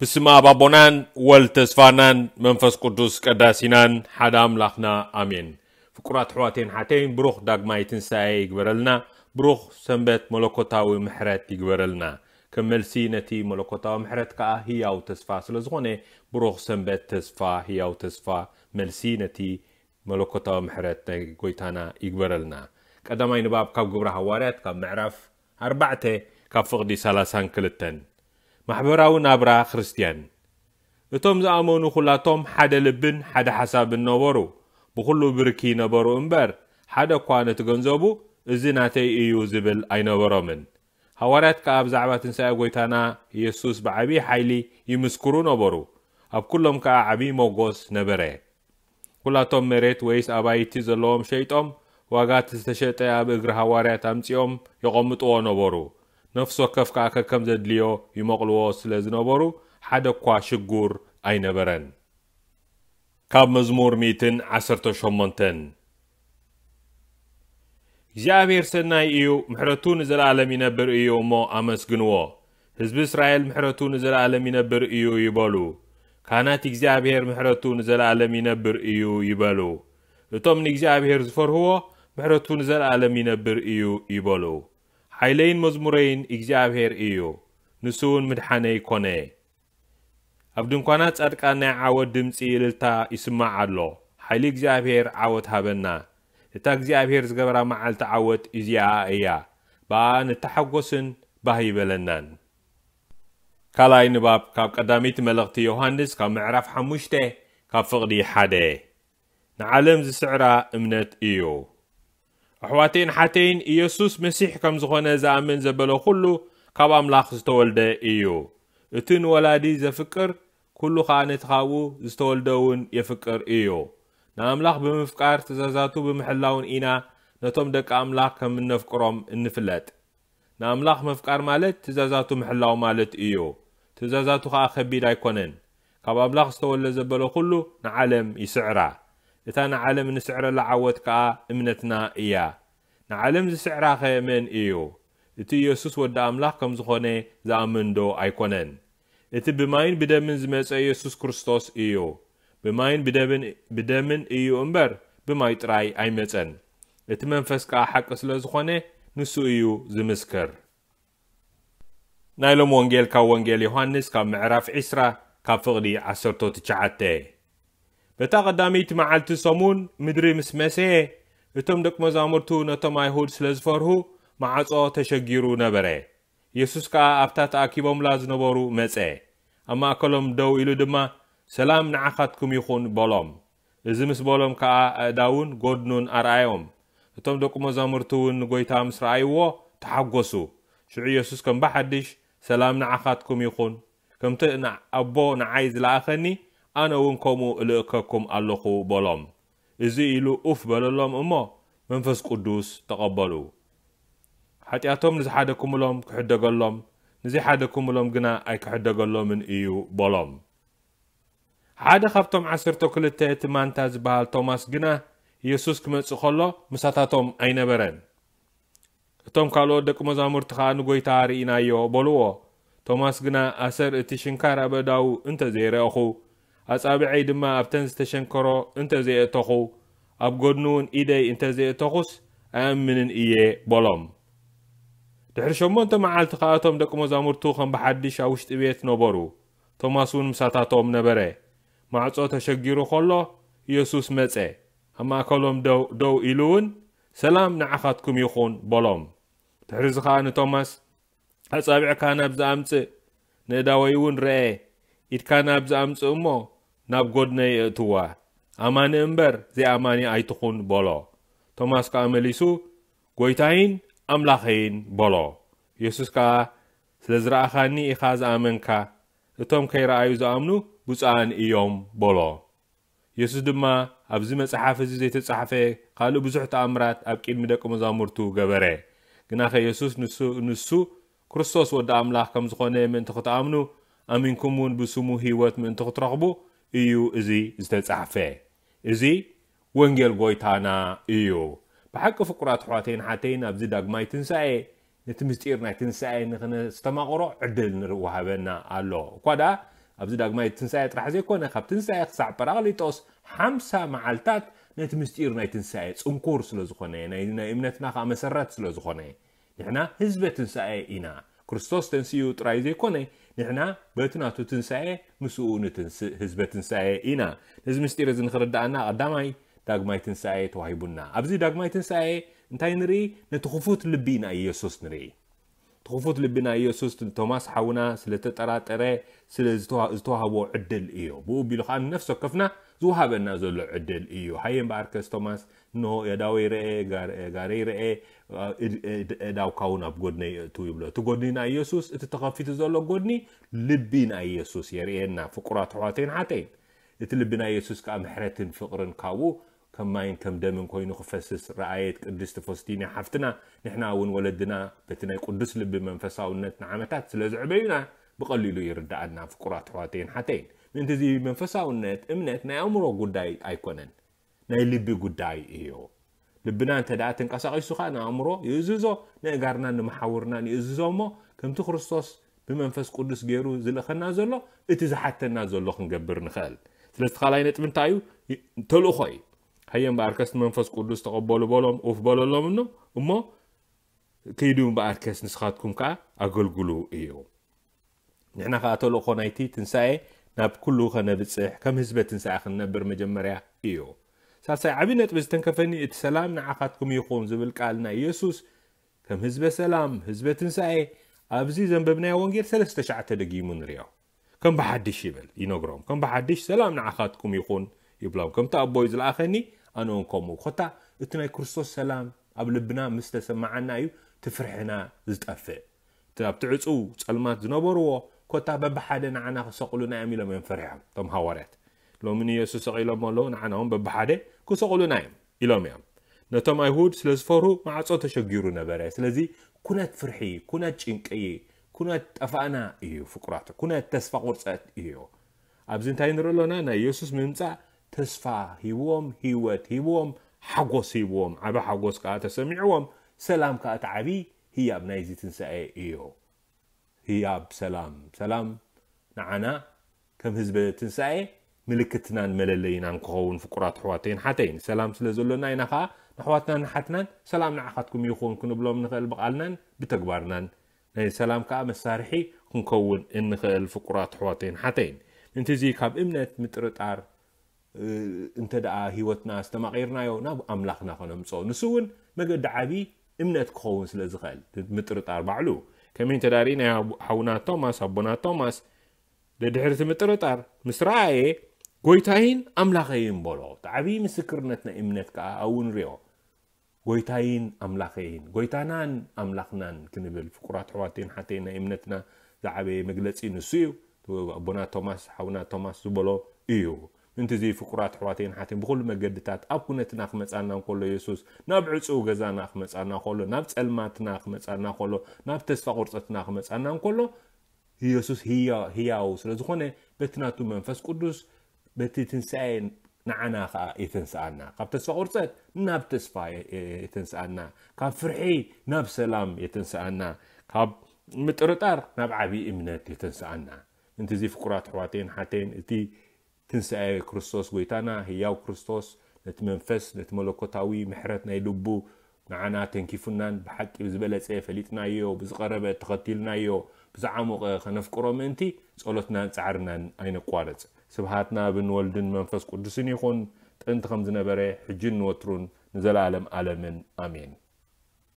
ብስም ኣብ ኣቦናን ወልድ ተስፋናን መንፈስ ቅዱስ ቀዳሲናን ሓደ ኣምላኽና ኣሜን። ፍቁራት ኣሕዋቴን ሓተይን፣ ብሩኽ ዳግማይ ትንሳኤ ይግበረልና። ብሩኽ ሰንበት መለኮታዊ ምሕረት ይግበረልና። ከም መልሲ ነቲ መለኮታዊ ምሕረት ከኣ ህያው ተስፋ ስለ ዝኾነ፣ ብሩኽ ሰንበት ተስፋ፣ ህያው ተስፋ፣ መልሲ ነቲ መለኮታዊ ምሕረት ናይ ጎይታና ይግበረልና። ቀዳማይ ንባብ ካብ ግብረ ሃዋርያት ካብ ምዕራፍ ኣርባዕተ ካብ ፍቕዲ ሰላሳን ክልተን። ማሕበራዊ ናብራ ክርስትያን። እቶም ዝኣመኑ ኩላቶም ሓደ ልብን ሓደ ሓሳብን ነበሩ፣ ብኹሉ ብርኪ ነበሩ እምበር፣ ሓደ እኳ ነቲ ገንዘቡ እዚ ናተይ እዩ ዝብል ኣይነበሮምን። ሃዋርያት ከኣ ብዛዕባ ትንሳኤ ጎይታና ኢየሱስ ብዓቢ ሓይሊ ይምስክሩ ነበሩ፣ ኣብ ኩሎም ከኣ ዓቢ ሞጎስ ነበረ። ኩላቶም መሬት ወይስ ኣባይቲ ዘለዎም ሸይጦም፣ ዋጋ እቲ ዝተሸጠ ኣብ እግሪ ሃዋርያት ኣምጺኦም የቐምጥዎ ነበሩ። ነፍሲ ወከፍ ከኣ ከከም ዘድልዮ ይመቕልዎ ስለ ዝነበሩ፣ ሓደ እኳ ሽጉር ኣይነበረን። ካብ መዝሙር ሚእትን ዓሰርተ ሸሞንተን። እግዚኣብሔር ሰናይ እዩ፣ ምሕረቱ ንዘለኣለም ይነብር እዩ እሞ ኣመስግንዎ። ህዝቢ እስራኤል ምሕረቱ ንዘለኣለም ይነብር እዩ ይበሉ። ካህናት እግዚኣብሔር ምሕረቱ ንዘለኣለም ይነብር እዩ ይበሉ። እቶም ንእግዚኣብሔር ዝፈርህዎ ምሕረቱ ንዘለኣለም ይነብር እዩ ይበሉ። ሓይለይን መዝሙረይን እግዚኣብሔር እዩ፣ ንሱ እውን ምድሓነይ ኮነ። ኣብ ድንኳናት ጻድቃን ናይ ዓወት ድምጺ እልልታ ይስማዕ ኣሎ። ሓይሊ እግዚኣብሔር ዓወት ሃበና። እታ እግዚኣብሔር ዝገበራ መዓልቲ ዓወት እዚኣ እያ። ብኣ ንተሓጎስን ባህ ይበለናን። ካልኣይ ንባብ ካብ ቀዳመይቲ መልእኽቲ ዮሃንስ ካብ ምዕራፍ ሓሙሽተ ካብ ፍቕዲ ሓደ። ንዓለም ዝስዕራ እምነት እዩ። ኣሕዋተይን ሓተይን፣ ኢየሱስ መሲሕ ከም ዝኾነ ዝኣምን ዘበለ ኩሉ ካብ ኣምላኽ ዝተወልደ እዩ። እቲ ንወላዲ ዘፍቅር፣ ኩሉ ኸኣ ነቲ ካብኡ ዝተወልደ እውን የፍቅር እዩ። ንኣምላኽ ብምፍቃር ትእዛዛቱ ብምሕላውን ኢና ነቶም ደቂ ኣምላኽ ከም እነፍቅሮም እንፍለጥ። ንኣምላኽ ምፍቃር ማለት ትእዛዛቱ ምሕላው ማለት እዩ። ትእዛዛቱ ኸኣ ከቢድ ኣይኮነን። ካብ ኣምላኽ ዝተወልደ ዘበለ ኩሉ ንዓለም ይስዕራ። እታ ንዓለም እንስዕረላ ዓወት ከኣ እምነትና እያ። ንዓለም ዝስዕራኸ መን እዩ? እቲ ኢየሱስ ወዲ ኣምላኽ ከም ዝኾነ ዝኣምን ዶ ኣይኮነን? እቲ ብማይን ብደምን ዝመጸ ኢየሱስ ክርስቶስ እዩ። ብማይን ብደምን፣ ብደምን እዩ እምበር፣ ብማይ ጥራይ ኣይመጸን። እቲ መንፈስ ከኣ ሓቂ ስለ ዝኾነ፣ ንሱ እዩ ዝምስክር። ናይ ሎም ወንጌል ካብ ወንጌል ዮሃንስ ካብ ምዕራፍ ዒስራ ካብ ፍቕዲ ዓሰርተ ትሽዓተ። በታ ቀዳመይቲ መዓልቲ ሰሙን ምድሪ ምስ መሰየ፣ እቶም ደቂ መዛሙርቱ ነቶም ኣይሁድ ስለ ዝፈርሁ፣ ማዕጾ ተሸጊሩ ነበረ። የሱስ ከኣ ኣብታ ተኣኪቦምላ ዝነበሩ መጸ። ኣብ ማእከሎም ደው ኢሉ ድማ፣ "ሰላም ንዓኻትኩም ይኹን" በሎም። እዚ ምስ በሎም ከኣ ኣእዳዉን ጎድኑን ኣርኣዮም። እቶም ደቂ መዛሙርቲ እውን ንጎይታ ምስ ረኣይዎ ተሓጎሱ። ሽዑ የሱስ ከም ብሓድሽ፣ "ሰላም ንዓኻትኩም ይኹን። ከምቲ ን-፣ ኣቦ ንዓይ ዝለኣኸኒ፣ ኣነ እውን ከምኡ እልእከኩም ኣለኹ" በሎም። እዚ ኢሉ ኡፍ በለሎም እሞ መንፈስ ቅዱስ ተቐበሉ። ሓጢኣቶም ንዝሓደኩምሎም ክሕደገሎም፣ ንዘይሓደኩምሎም ግና ኣይክሕደገሎምን እዩ በሎም። ሓደ ካብቶም ዓሰርተ ክልተ እቲ ማንታ ዝበሃል ቶማስ ግና የሱስ ክመጽእ ከሎ ምሳታቶም ኣይነበረን። እቶም ካልኦት ደቂ መዛሙርቲ ኸኣ ንጎይታ ርኢናዮ በልዎ። ቶማስ ግና ኣሰር እቲ ሽንካር ኣብ ኣእዳዉ እንተ ዘይረእኹ፣ ኣጻብዐይ ድማ ኣብተን ዝተሸንከሮ እንተ ዘየእተኹ፣ ኣብ ጎድኑ እውን ኢደይ እንተ ዘየእተኹስ ኣይኣምንን እየ በሎም። ድሕሪ ሸሞንተ መዓልቲ ኸኣ እቶም ደቂ መዛሙርቱ ከም ብሓድሽ ኣብ ውሽጢ ቤት ነበሩ። ቶማስ እውን ምሳታቶም ነበረ። ማዕጾ ተሸጊሩ ኸሎ የሱስ መጸ። ኣብ ማእከሎም ደው፣ ደው ኢሉ እውን፣ "ሰላም ንዓኻትኩም ይኹን" በሎም። ድሕሪ እዚ ኸኣ ንቶማስ፣ "ኣጻብዕካ ናብዚ ኣምጽእ፣ ንእዳወይ እውን ርኤ፣ ኢድካ ናብዚ ኣምጽእ እሞ ናብ ጎድነይ እእትዋ፣ ኣማኒ እምበር ዘይኣማኒ ኣይትኹን" በሎ። ቶማስ ከኣ መሊሱ፣ "ጎይታይን ኣምላኸይን" በሎ። የሱስ ከኣ፣ "ስለ ዝረኣኻኒ ኢኻ ዝኣመንካ፣ እቶም ከይረኣዩ ዝኣምኑ ብፁዓን እዮም" በሎ። የሱስ ድማ፣ "ኣብዚ መጽሓፍ እዚ ዘይተጻሕፈ ካልእ ብዙሕ ተኣምራት ኣብ ቅድሚ ደቂ መዛሙርቱ ገበረ። ግናኸ የሱስ ንሱ፣ ንሱ ክርስቶስ ወዲ ኣምላኽ ከም ዝኾነ ምእንቲ ክትኣምኑ፣ ኣሚንኩም እውን ብስሙ ህይወት ምእንቲ ክትረኽቡ እዩ እዚ ዝተጻሕፈ።" እዚ ወንጌል ጎይታና እዩ። ብሓቂ ፍቁራት ኣሕዋተይን ሓተይን፣ ኣብዚ ዳግማይ ትንሳኤ፣ ነቲ ምስጢር ናይ ትንሳኤ ንኽነስተማቕሮ ዕድል ንወሃበና ኣሎ። እኳ ደኣ ኣብዚ ዳግማይ ትንሳኤ ጥራሕ ዘይኮነ፣ ካብ ትንሳኤ ክሳዕ ጳራቅሊጦስ ሓምሳ መዓልታት ነቲ ምስጢር ናይ ትንሳኤ ጽንኩር ስለ ዝኾነ፣ ናይ እምነትና ከዓ መሰረት ስለ ዝኾነ፣ ንሕና ህዝበ ትንሳኤ ኢና። ክርስቶስ ተንሲኡ ጥራይ ዘይኮነ፣ ንሕና በቲ ናቱ ትንሳኤ ምስኡ ንትንስእ ህዝበ ትንሳኤ ኢና። ነዚ ምስጢር እዚ ንኽርድኣና ቀዳማይ ዳግማይ ትንሳኤ ተዋሂቡና። ኣብዚ ዳግማይ ትንሳኤ እንታይ ንርኢ? ነቲ ክፉት ልቢ ናይ ኢየሱስ ንርኢ። ትኽፉት ልቢ ናይ ኢየሱስ ቶማስ ሓውና ስለ ተጠራጠረ፣ ስለ ዝተዋህቦ ዕድል እዩ። ብኡ ቢሉ ከዓ ንነፍሲ ወከፍና ዝወሃበና ዘሎ ዕድል እዩ። ሃየ እምበኣርከስ ቶማስ፣ እንሆ የዳወይ ረኤ፣ ጋረይ ረኤ፣ እዳውካ እውን ኣብ ጎድነይ እእቱ ይብሎ። እቲ ጎድኒ ናይ ኢየሱስ፣ እቲ ተኸፊቱ ዘሎ ጎድኒ ልቢ ናይ ኢየሱስ የርእየና። ፍቁራት ኣሕዋተይን ሓተይን፣ እቲ ልቢ ናይ ኢየሱስ ከዓ ምሕረትን ፍቕርን ካብኡ ከም ማይን ከም ደምን ኮይኑ ክፈስስ ረኣየት ቅድስቲ ፎስቲና ሓፍትና። ንሕና እውን ወለድና በቲ ናይ ቅዱስ ልቢ መንፈሳውነት ንዓመታት ስለ ዝዕበዩና ብቐሊሉ ይርድኣና። ፍቁራት ኣሕዋተይን ሓተይን፣ ምእንቲ እዚ መንፈሳውነት እምነት ናይ ኣእምሮ ጉዳይ ኣይኮነን፣ ናይ ልቢ ጉዳይ እዩ። ልብና እንተ ደኣ ተንቀሳቒሱ ኸኣ ንኣእምሮ ይእዝዞ፣ ንእጋርናን ንመሓውርናን ይእዝዞ እሞ፣ ከምቲ ክርስቶስ ብመንፈስ ቅዱስ ገይሩ ዝልእኸና ዘሎ፣ እቲ ዝሓተና ዘሎ ክንገብር ንኽእል። ስለዚ እቲ ካልኣይ ነጥቢ እንታይ እዩ? ተልእኾ እዩ። ሃየ እምበኣርከስ ንመንፈስ ቅዱስ ተቐበሉ በሎም፣ ኡፍ በለሎም እኖ፣ እሞ፣ ከይዱ እምበኣርከስ ንስኻትኩም ከኣ ኣገልግሉ እዩ። ንሕና ከኣ ተልእኾ ናይቲ ትንሳኤ ናብ ኩሉ ከነብጽሕ፣ ከም ህዝበ ትንሳኤ ክንነብር መጀመርያ እዩ። ሳልሳይ ዓቢ ነጥቢ ዝተንከፈኒ፣ እቲ ሰላም ንዓኻትኩም ይኹን ዝብል ቃል ናይ ኢየሱስ፣ ከም ህዝበ ሰላም፣ ህዝበ ትንሳኤ፣ ኣብዚ ዘንበብናዮ ወንጌል ሰለስተ ሻዕ ተደጊሙ ንሪኦ። ከም ብሓድሽ ይብል፣ ይነግሮም። ከም ብሓድሽ ሰላም ንዓኻትኩም ይኹን ይብሎም። ከምቲ ኣቦይ ዝለኣኸኒ ኣነ እውን ከምኡ። ኮታ እቲ ናይ ክርስቶስ ሰላም ኣብ ልብና ምስ ተሰማዓና እዩ እቲ ፍርሕና ዝጠፍእ። እቲ ኣብቲ ዕጹው ጸልማት ዝነበርዎ ኮታ በብሓደ ንዓና ክሰቕሉና እዮም ኢሎም እዮም ፈሪሖም እቶም ሃዋርያት። ሎሚ ንየሱስ ሰቒሎሞ ኣለዉ፣ ንዓና እውን በብሓደ ክሰቕሉና እዮም ኢሎም እዮም። ነቶም ኣይሁድ ስለ ዝፈርሁ ማዕጾ ተሸጊሩ ነበረ። ስለዚ ኩነት ፍርሒ፣ ኩነት ጭንቂ፣ ኩነት ጠፋእና እዩ ፍቁራት፣ ኩነት ተስፋ ቁርጸት እዩ። ኣብዚ እንታይ ንርኢ ኣሎና? ናይ የሱስ ምምጻእ ተስፋ ሂብዎም፣ ህይወት ሂብዎም፣ ሓጎስ ሂብዎም፣ ዓቢ ሓጎስ ከኣ ተሰሚዕዎም፣ ሰላም ከኣ እቲ ዓቢ ህያብ ናይዚ ትንሳኤ እዩ። ህያብ ሰላም፣ ሰላም ንዓና ከም ህዝበ ትንሳኤ ምልክትናን መለለይናን ክኸውን ፍቁራት ኣሕዋተይን ሓተይን። ሰላም ስለ ዘሎና ኢና ከኣ ንኣሕዋትናን ንሓትናን ሰላም ንዓኻትኩም ይኹን ክንብሎም ንኽእል ብቓልናን ብተግባርናን። ናይ ሰላም ከኣ መሳርሒ ክንከውን እንኽእል ፍቁራት ኣሕዋተይን ሓተይን። ምእንቲ እዚ ካብ እምነት ምጥርጣር፣ እ፣ እንተ ደኣ ህይወትና ኣስተማቒርናዮ ናብ ኣምላኽና ከነምጽኦ። ንሱ እውን መገዲ ዓቢ እምነት ክኸውን ስለ ዝኽእል፣ ምጥርጣር ባዕሉ። ከመይ እንተ ደኣ ርኢናዮ ሓውና ቶማስ፣ ኣቦና ቶማስ፣ ደድሕሪ እቲ ምጥርጣር ምስ ረኣየ፣ "ጎይታይን ኣምላኸይን" በሎ። እቲ ዓቢ ምስክርነት ናይ እምነት ከኣ ኣብኡ ንሪኦ። "ጎይታይን ኣምላኸይን፣ ጎይታናን ኣምላኽናን" ክንብል፣ ፍቁራት ኣሕዋተይን ሓተይን፣ ናይ እምነትና ዝዓበየ መግለጺ ንሱ እዩ። ኣቦና ቶማስ፣ ሓውና ቶማስ ዝበሎ እዩ። ምእንቲ እዚ ፍቁራት ኣሕዋተይን ሓተይን፣ ብኹሉ መገድታት ኣብ ኩነትና ክመጻና እንከሎ፣ የሱስ ናብ ዕጹው ገዛና ክመጻና ከሎ፣ ናብ ጸልማትና ክመጻና ከሎ፣ ናብ ተስፋ ቁርጸትና ክመጻና እንከሎ፣ ኢየሱስ ህያ-፣ ህያው ስለ ዝኾነ፣ በቲ ናቱ መንፈስ ቅዱስ፣ በቲ ትንሳኤ ንዓና ኸኣ የተንስኣና። ካብ ተስፋ ቁርጸት ናብ ተስፋ የ-፣ የ-፣ የተንስኣና። ካብ ፍርሒ ናብ ሰላም የተንስኣና። ካብ ምጥርጣር ናብ ዓቢ እምነት የተንስኣና። ምእንቲ እዚ ፍቁራት ኣሕዋተይን ሓተይን፣ እቲ ትንሳኤ ክርስቶስ ጎይታና፣ ህያው ክርስቶስ፣ ነቲ መንፈስ፣ ነቲ መለኮታዊ ምሕረት ናይ ልቡ ንዓና ተንኪፉናን ብሓቂ ብዝበለጸ ፈሊጥናዮ፣ ብዝቐረበ ተኸቲልናዮ፣ ብዝዓሞቐ ከነፍቅሮ ምእንቲ ጸሎትናን ጻዕርናን ኣይነቋርጽ። ስብሃት ንኣብን ወልድን መንፈስ ቅዱስን ይኹን፣ ጥንቲ ከም ዝነበረ፣ ሕጅን ንወትሩን ንዘለኣለም ኣለምን። ኣሜን።